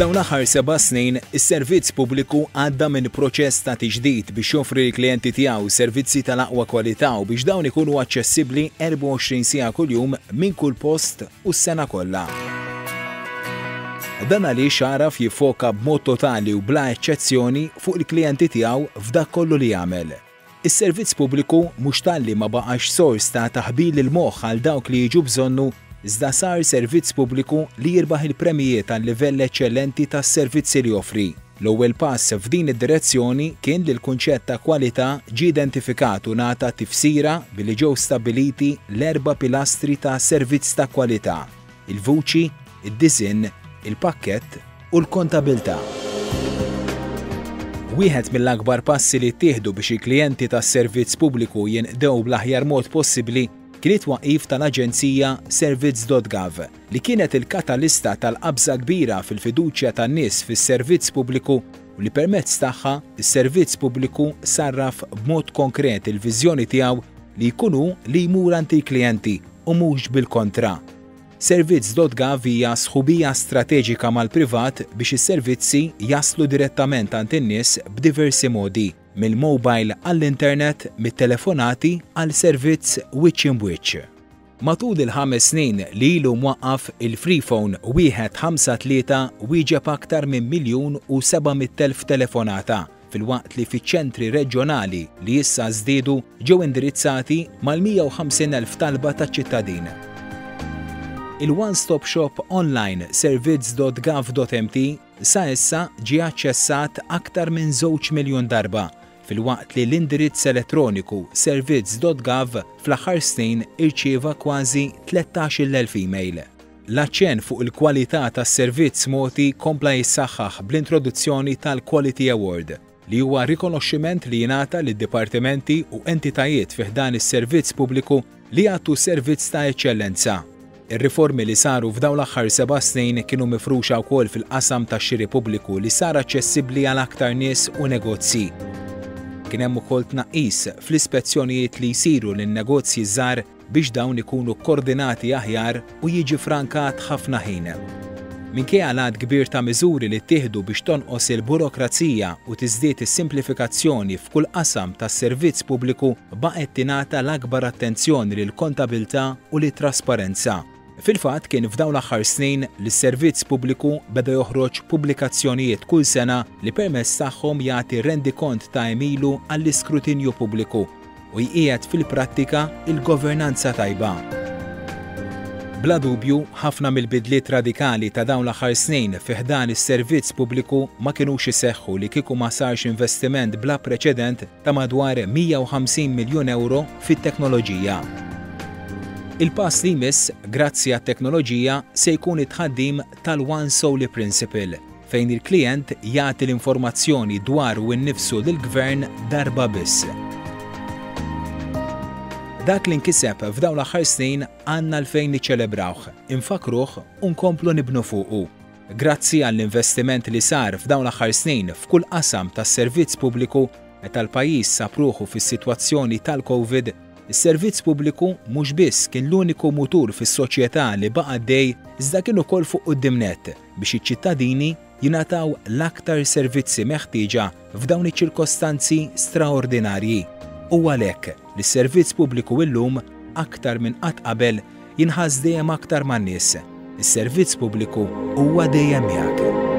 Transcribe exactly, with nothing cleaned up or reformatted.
F'dawn l-aħħar seba' snin, is-servizz pubbliku għadda minn proċess ta' tiġdid biex joffri l-klijenti tiegħu servizzi tal-aqwa kwalità u biex dawn ikunu aċċessibbli erbgħa u għoxrin siegħa kuljum, minn kull post u s-sena kollha. Dan għaliex għaraf jiffoka b'mod totali u bla eċċezzjoni fuq il-klijenti tiegħu f'dak kollu li jagħmel. Is-servizz pubbliku mhux talli ma baqax sors ta' taħbil il-moħħ għal dawk li jiġu bżonnu, iżda sar servizz pubbliku li jirbaħ il-premijiet għal livell eċċellenti tas-servizzi li joffri. L-ewwel pass f'din id-direzzjoni kien li l-kunċett ta' kwalità ġie identifikat u ngħata tifsira billi ġew stabbiliti l-erba' pilastri ta' servizz ta' kwalità: il-vuċi, id-disinn, il-pakkett u l-kontabilità. Wieħed mill-akbar passi li ttieħdu biex il-klijenti tas-servizz pubbliku jinqdew bl-aħjar mod possibbli kien it-twaqif tal-Aġenzija Servizz punt gov, li kienet il-katalista tal-qabża kbira fil-fiduċja tan-nies fis-servizz pubbliku u li permezz tagħha is-servizz pubbliku sarraf b'mod konkret il-viżjoni tiegħu li jkunu li jmur għand il-klijenti u mhux bil-kontra. Servizz punt gov hija sħubija strateġika mal-privat biex is-servizzi jaslu direttament għand in-nies b'diversi modi, mill-mobile għall-internet, mit-telefonati għal servizz wiċċ imb'wiċċ. Matul il-ħames snin li ilu mwaqqaf, il-Freephone wieħed ħamsa tlieta wieġeb aktar minn miljun u seba' mitt elf telefonata, filwaqt li fiċ-ċentri reġjonali li issa żdiedu ġew indirizzati mal-mija u ħamsin elf talba ta' ċittadin. Il-One Stop Shop online servizz punt gov punt M T sa issa ġie aċċessat aktar minn żewġ miljun darba, filwaqt li l-indirizz elettroniku servizz punt gov fl-aħħar snin irċieva kważi tlettax-il elf email. L-aċċen fuq il-kwalità tas-servizz mogħti kompla jissaħħaħ bl-introduzzjoni tal-Quality Award, li huwa rikonoxximent li jingħata lid-dipartimenti u entitajiet fi ħdan is-servizz pubbliku li jagħtu servizz ta' eċċellenza. Ir-riformi li saru f'dawn l-aħħar seba' snin kienu mifruxa wkoll fil-qasam tax-xiri pubbliku, li sar aċċessibbli għal aktar nies u negozji. Kien hemm ukoll tnaqqis fl-ispezzjonijiet li jsiru lin-negozji żgħar biex dawn ikunu koordinati aħjar u jiġi frankat ħafna ħin. Minkejja l-għadd kbir ta' miżuri li ttieħdu biex tonqos il-burokrazija u tiżdied is-simplifikazzjoni f'kull qasam tas-servizz pubbliku, baqgħet tingħata l-akbar attenzjoni lill-kontabilità u lit-trasparenza. Fil-fatt, kien f'dawn l-aħħar snin li s-servizz pubbliku beda joħroġ pubblikazzjonijiet kull sena li permezz tagħhom jagħti rendikont ta' għemilu għall-iskrutinju pubbliku u jqiegħed fil-prattika il-governanza tajba. Bla dubju, ħafna mill-bidliet radikali ta' dawn l-aħħar snin fi ħdan is-servizz pubbliku ma kinux iseħħu li kieku ma sarx investiment bla preċedent ta' madwar mija u ħamsin miljun euro fit-teknoloġija. Il-pass li jmiss, grazzi għat-teknoloġija, se jkun it-tħaddim tal-One Sole Principle, fejn il-klient jagħti l-informazzjoni dwaru nnifsu lill-gvern darba biss. Dak li nkiseb f'dawn l-aħħar snin għandna għalfejn niċċelebrawh, infakkruh u nkomplu nibnu fuqu. Grazzi għall-investiment li sar f'dawn l-aħħar snin f'kull qasam tas-servizz pubbliku, meta l-pajjiż sab ruħu fis-sitwazzjoni tal-Covid, is-servizz pubbliku mhux biss kien l-uniku mutur fis-soċjetà li baqa' għaddej, iżda kien ukoll fuq quddiem nett biex iċ-ċittadini jingħataw l-aktar servizzi meħtieġa f'dawn iċ-ċirkostanzi straordinarji. U għalhekk li s-servizz pubbliku illum aktar minn qatt qabel jinħass dejjem aktar man-nies. Is-servizz pubbliku huwa dejjem miegħek.